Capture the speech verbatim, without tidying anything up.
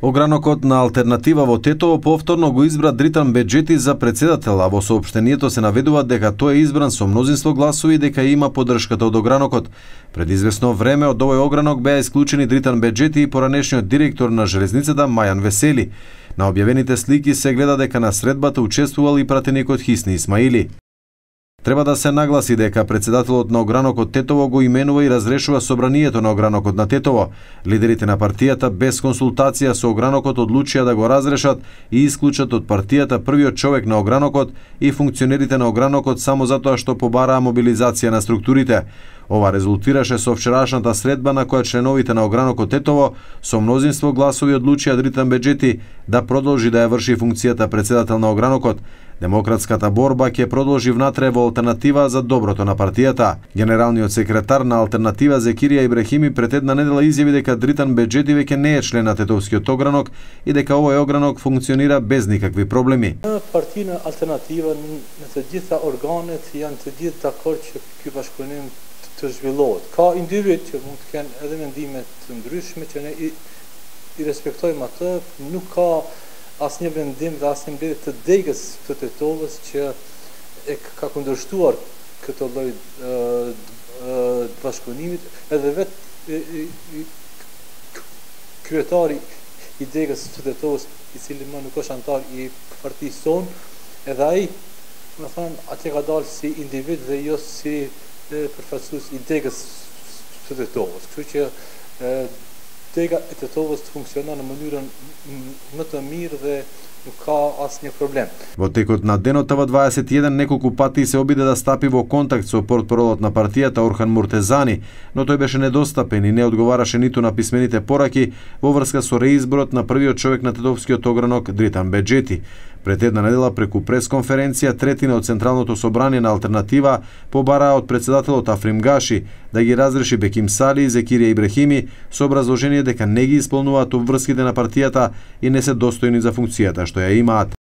Огранокот на Алтернатива во Тетово повторно го избра Дритан Беџети за председател, а во соопштението се наведува дека тој е избран со мнозинство гласови и дека има поддршката од огранокот. Пред известно време од овој огранок беа исклучени Дритан Беџети и поранешниот директор на железницата Мајан Весели. На објавените слики се гледа дека на средбата учествувал и пратеникот Хисни Исмаили. Треба да се нагласи дека председателот на огранокот Тетово го именува и разрешува собранието на огранокот на Тетово. Лидерите на партијата без консултација со огранокот одлучија да го разрешат и исклучат од партијата првиот човек на огранокот и функционерите на огранокот само затоа што побараа мобилизација на структурите. Ова резултираше со вчерашната средба на која членовите на огранокот Тетово со мнозинство гласови одлучија Дритан Беџети да продолжи да ја врши функцијата председател на огранокот. Демократската борба ќе продолжи внатре во Алтернатива за доброто на партијата. Генералниот секретар на Алтернатива Зекирија Ибрахими пред една недела изјави дека Дритан Беџети веќе не е член на Тетовскиот огранок и дека овој огранок функционира без никакви проблеми. Партија Алтернатива në të gjitha organet janë të gjithë dakord që ky bashkëpunim të zhvillohet. Ka individ që mund të kenë edhe mendime të ndryshme që ne i, i respektojmë atë, nuk ka asnjë vendim dhe asnjë mbledhje të degës të Tetovës që e ka kundërshtuar këtë lloj bashkëpunimit, edhe vetë kryetari i degës të Tetovës, i cili më nuk është antar i partisë sonë, edhe ai, më thënë, atje ka dalë si individ dhe jo si përfaqësues i degës të Tetovës. Kështu që dega e Tetovës funksionon në mënyrën më të mirë dhe nuk ka asnjë problem. Во текот на денот Т В дваесет и еден неколку пати се обиде да стапи во контакт со портпаролот на партијата Орхан Муртезани, но тој беше недостапен и не одговараше ниту на писмените пораки во врска со реизборот на првиот човек на Тетовскиот огранок Дритан Беџети. Пред една недела преку пресконференција третина од Централното собрание на Алтернатива побараа од председателот Африм Гаши да ги разреши Беким Сали и Зекирија Ибрахими со образложение дека не ги исполнуваат обврските на партијата и не се достојни за функцијата што ја имаат.